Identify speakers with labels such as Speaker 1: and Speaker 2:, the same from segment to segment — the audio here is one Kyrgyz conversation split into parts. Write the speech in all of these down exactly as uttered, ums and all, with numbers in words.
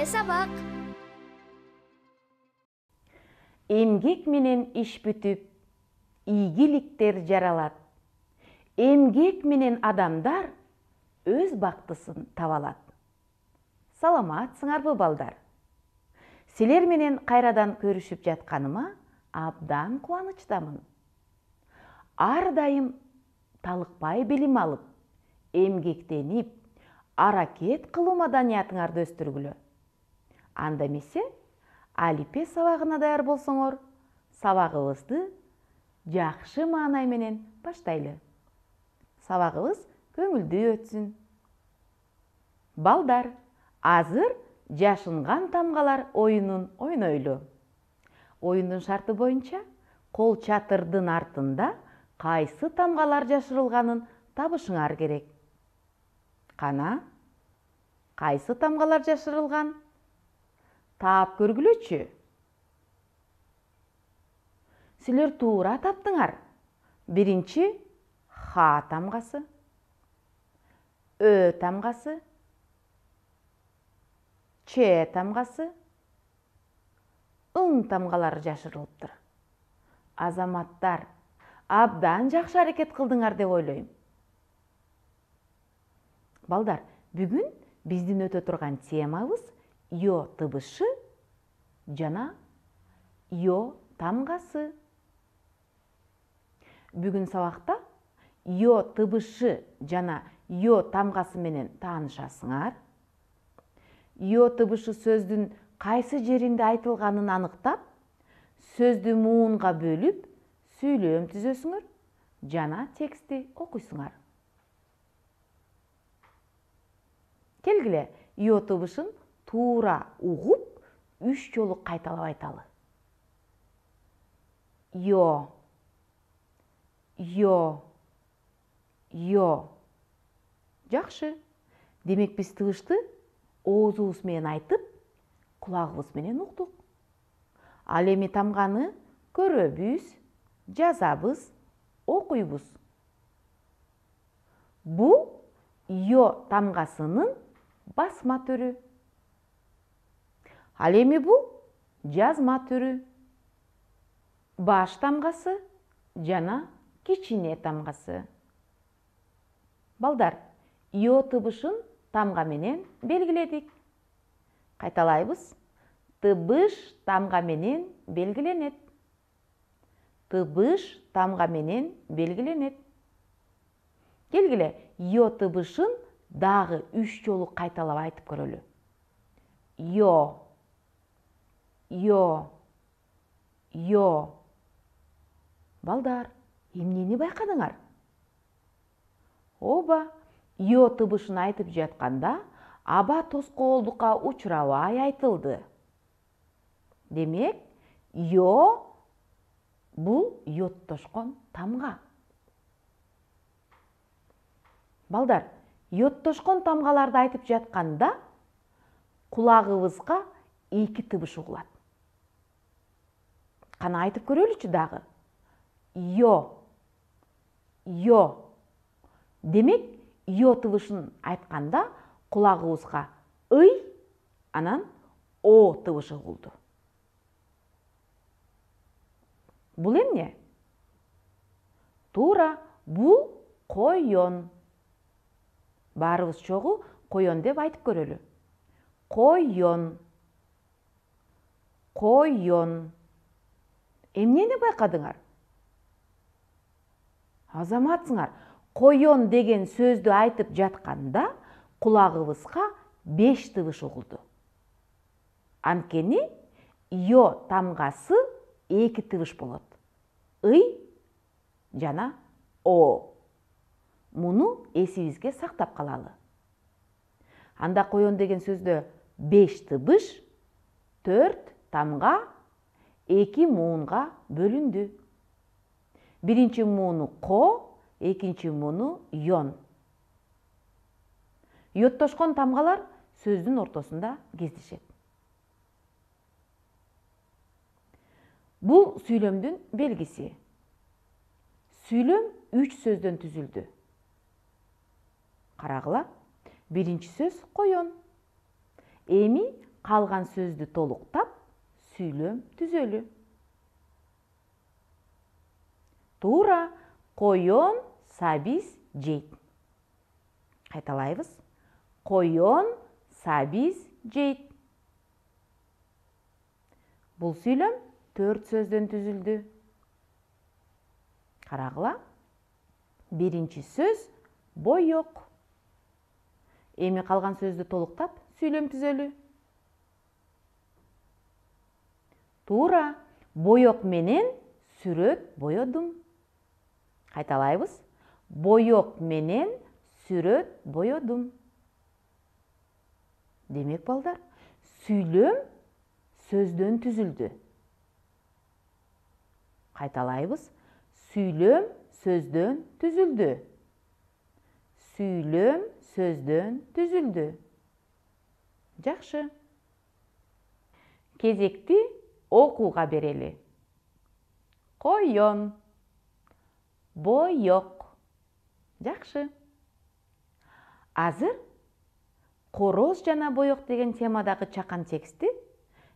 Speaker 1: сабак.
Speaker 2: Эмгек менен иш бүтүп, ийгиликтер жаралат. Эмгек менен адамдар өз бактысын таба алат. Саламатсыңарбы, балдар? Силер менен кайрадан көрүшүп жатканыма абдан кубанычтамын. Ар дайым талыкпай билим алып, эмгектенип, аракет кылуу маданиятыңарды өстүргүлө. Анда эмесе, алипе сабагына даяр болсоңор, сабагыбызды жакшы маанай менен баштайлы. Сабагыбыз көңүлдүү өтсүн. Балдар, азыр жашынган тамгалар оюнун ойнойлу. Оюндун шарты боюнча кол чатырдын артында кайсы тамгалар жашырылганын табышыңар керек. Кана, кайсы тамгалар жашырылган? Таап көргүлөчү. Силер туура таптыңар. Биринчи Х тамгасы, Ö тамгасы, Ч тамгасы, Ң тамгалары жашырылыптыр. Азаматтар, абдан жакшы аракет кылдыңар деп ойлойм. Балдар, бүгүн биздин өтө турган темабыз Ё тыбышы жана Ё тамгасы. Бүгүн сабакта Ё тыбышы жана Ё тамгасы менен таанышасыңар. Ё тыбышы сөздүн кайсы жеринде айтылганын аныктап, сөздү муунга бөлүп, сүйлөм түзөсүңөр жана текстти окуйсуңар. Келгиле, Ё тыбышын туура угуп, үч жолу кайталап айталы. Ё, Ё, Ё. Жакшы. Демек биз тыбышты оозубуз менен айтып, кулагыбыз менен уктук. Ал эми тамганы көрөбүз, жазабыз, окуйбуз. Бул Ё тамгасынын басма түрү. Ал эми бул жазма түрү. Баш тамгасы жана кичине тамгасы. Балдар, Ё тыбышын тамга менен белгиледик. Кайталайбыз. Тыбыш тамга менен белгиленет. Тыбыш тамга менен белгиленет. Келгиле, Ё тыбышын дагы үч жолу кайталап айтып көрөлү. Ё, Ё, Ё. Балдар, эмнени байкадыңар? Ооба, Ё тыбышын айтып жатканда аба тоскоолдукка учурабай айтылды. Демек, Ё бул йоттошкон тамга. Балдар, йоттошкон тамгаларды айтып жатканда кулагыбызга эки тыбыш угулат. Кана айтып көрөлүчү дагы. Ё, Ё. Демек, Ё тыбышын айтканда кулагыбызга ый, анан О тыбышы угулду. Бул эмне? Туура, бул койон. Баарыбыз чогуу койон деп айтып көрөлү. Койон. Койон. Эмнени байкадыңар? Азаматсыңар, койон деген сөздү айтып жатканда кулагыбызга беш тыбыш угулду. Анткени Ё тамгасы эки тыбыш болот. Ый жана О. Муну эсибизге сактап калалы. Анда койон деген сөздө беш тыбыш, төрт тамга, эки муунга бөлүндү. Биринчи мууну Ко, экинчи мууну Йон. Йоттошкон тамгалар сөздүн ортосунда кездешет. Бул сүйлөмдүн белгиси. Сүйлөм үч сөздөн түзүлдү. Карагыла, биринчи сөз койон. Эми калган сөздү толуктап, сүйлөм түзөлү. Туура, коён сабиз жейт. Кайталайбыз. Коён сабиз жейт. Бул сүйлөм төрт сөздөн түзүлдү. Карагыла. Биринчи сөз боёк. Эми калган сөздү толуктап, сүйлөм түзөлү. Туура, боёк менен сүрөт боёдум. Кайталайбыз. Боёк менен сүрөт боёдум. Демек балдар, сүйлөм сөздөн түзүлдү. Кайталайбыз. Сүйлөм сөздөн түзүлдү. Сүйлөм сөздөн түзүлдү. Жакшы. Кезекти окууга берели. Коён, боёк. Жакшы. Азыр короз жана боёк деген темадагы чакан текстти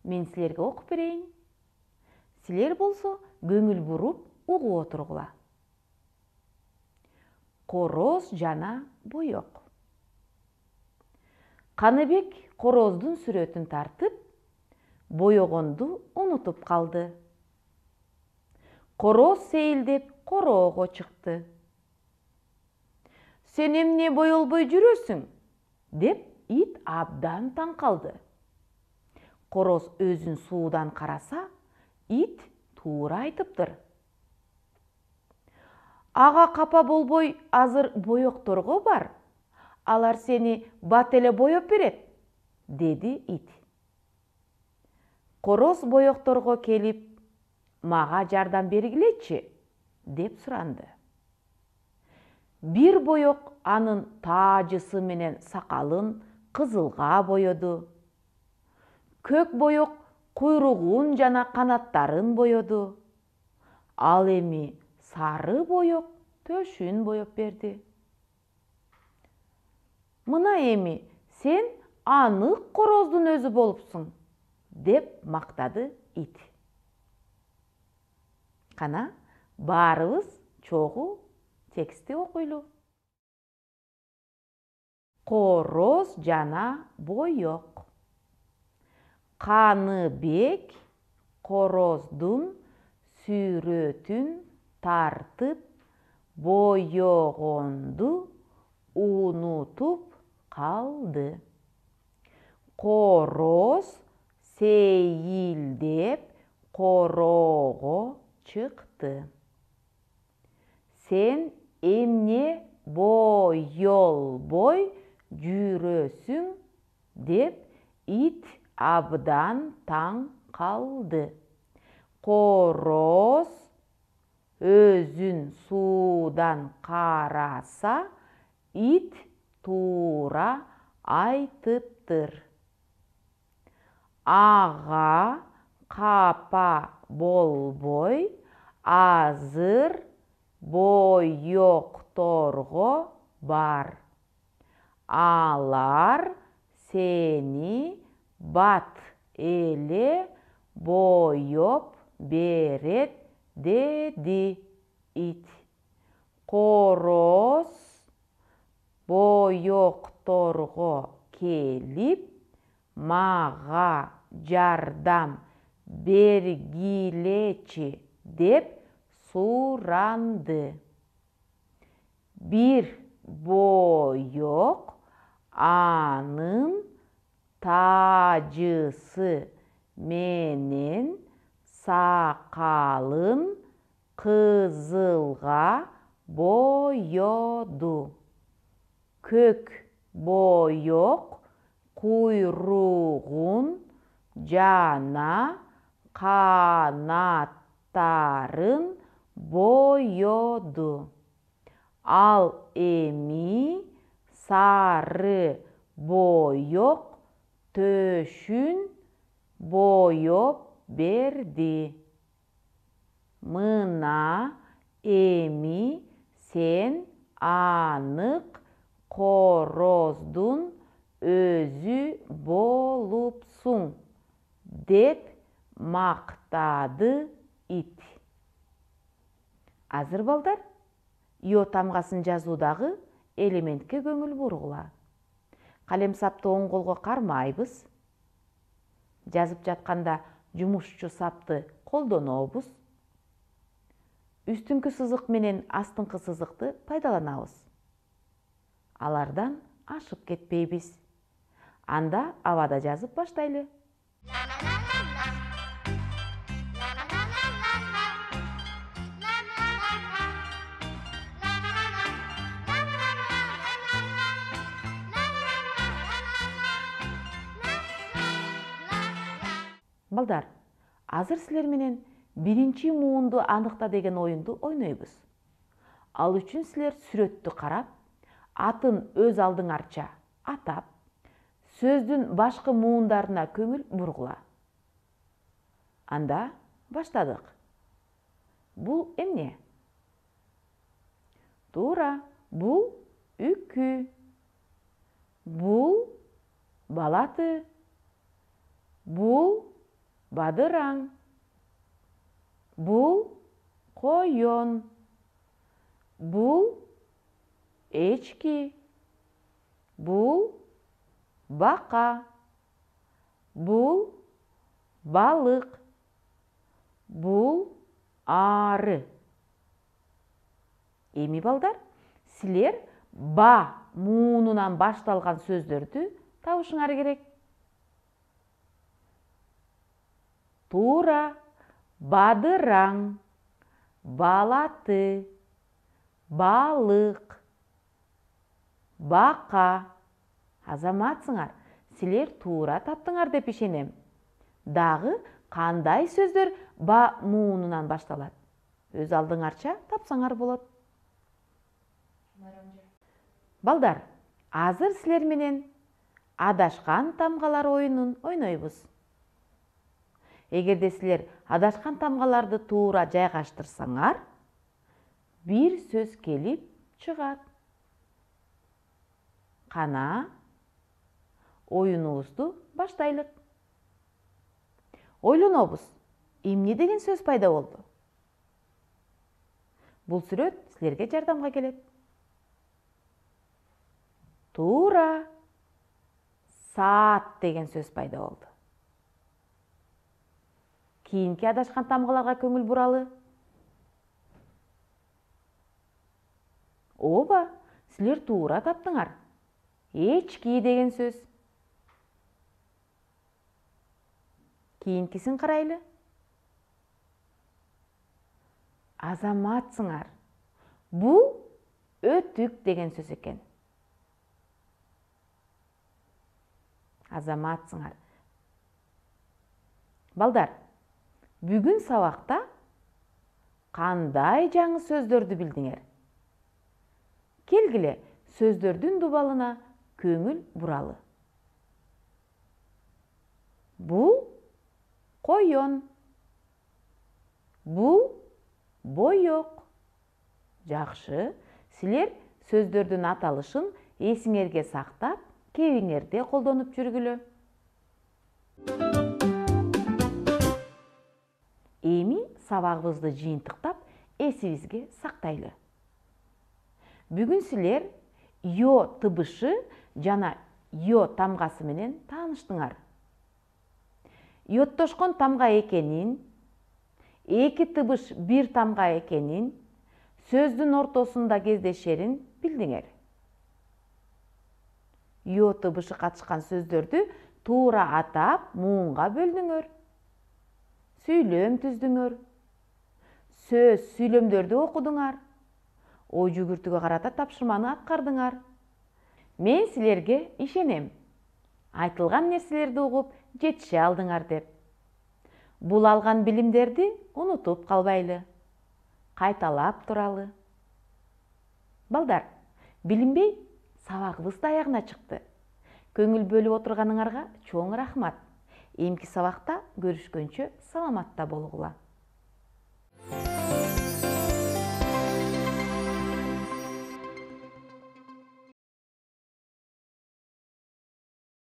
Speaker 2: мен силерге окуп берейин. Силер болсо көңүл буруп угуп отургула. Короз жана боёк. Каныбек короздун сүрөтүн тартып, боёгонду унутуп калды. Короз сейилдеп короого чыкты. Сен эмне боёлбой жүрөсүң? Деп ит абдан таң калды. Короз өзүн суудан караса, ит туура айтыптыр. Ага капа болбой, азыр боёкторго бар. Алар сени бат эле боёп берет, деди ит. Короз боёкторго келип, мага жардам бергилечи, деп суранды. Бир боёк анын таажысы менен сакалын кызылга боёду. Көк боёк куйругун жана канаттарын боёду. Ал эми сары боёк төшүн боёп берди. Мына эми сен анык короздун өзү болупсуң, деп мактады ит. Кана, баарыбыз чогуу текстти окуйлу. Короз жана боёк. Каныбек короздун сүрөтүн тартып, боёгонду унутуп калды. Короз сейилдеп короого чыкты. Сен эмне боёлбой жүрөсүң? Деп ит абдан таң калды. Короз өзүн суудан караса, ит туура айтыптыр. Ага капа болбой, азыр боёкторго бар. Алар сени бат эле боёп берет, деди ит. Короз боёкторго келип, мага жардам бергилечи, деп суранды. Бир боёк анын таажысы менен сакалын кызылга боёду. Көк боёк куйругун жана канаттарын боёду. Ал эми сары боёк төшүн боёп берди. Мына эми сен анык короздун өзү болупсуң. деп мактады ит. Азыр балдар, ё тамгасын жазуудагы элементке көңүл бургула. Калем сапты оң колго кармайбыз. Жазып жатканда жумушчу сапты колдонобуз. Үстүңкү сызык менен астыңкы сызыкты пайдаланабыз. Алардан ашып кетпейбиз. Анда абада жазып баштайлы. Балдар, азыр силер менен биринчи муунду аныкта деген оюнду ойнойбуз. Ал үчүн силер сүрөттү карап, атын өз алдыңарча атап, сөздүн башкы муундарына көңүл бургула. Анда баштадык. Бул эмне? Туура, бул үкү. Бул балаты. Бул бадыраң. Бул койон. Бул эчки. Бул бака. Бул балык. Бул ары. Эми балдар, силер ба муунунан башталган сөздөрдү табышыңар керек. Туура, бадыраң, балаты, балык, бака. Азаматсыңар, силер туура таптыңар деп ишенем. Дагы кандай сөздөр ба муунунан башталат? Өз алдыңарча тапсаңар болот. Балдар, азыр силер менен адашкан тамгалар оюнун ойнойбуз. Эгерде силер адашкан тамгаларды туура жайгаштырсаңар, бир сөз келип чыгат. Кана, оюнубузду баштайлык. Ойлонобуз, эмне деген сөз пайда болду? Бул сүрөт силерге жардамга келет. Туура, саат деген сөз пайда болду. Кийинки адашкан тамгаларга көңүл буралы. Ооба, силер туура таптыңар. Эчки деген сөз. Кийинкисин карайлы. Азаматсыңар. Бул өтүк деген сөз экен. Азаматсыңар. Балдар, бүгүн сабакта кандай жаңы сөздөрдү билдиңер? Келгиле, сөздөрдүн дубалына көңүл буралы. Бул койон. Бул боек. Жакшы, силер сөздөрдүн аталышын эсиңерге сактап, кебиңерде колдонуп жүргүлө. Эми сабагыбызды жыйынтыктап, эсибизге сактайлы. Бүгүн силер ё тыбышы жана ё тамгасы менен тааныштыңар. Йоттошкон тамга экенин, эки тыбыш бир тамга экенин, сөздүн ортосунда кездешерин билдиңер. Ё тыбышы катышкан сөздөрдү туура атап, муунга бөлдүңөр. Сүйлөм түздүңөр. Сөз, сүйлөмдөрдү окудуңар. Ой жүгүртүүгө карата тапшырманы аткардыңар. Мен силерге ишенем. Айтылган нерселерди угуп, жетише алдыңар деп. Бул алган билимдерди унутуп калбайлы. Кайталап туралы. Балдар, билинбей сабагыбыз да аягына чыкты. Көңүл бөлүп отурганыңарга чоң рахмат. Эмки сабакта көрүшкөнчө саламатта болгула.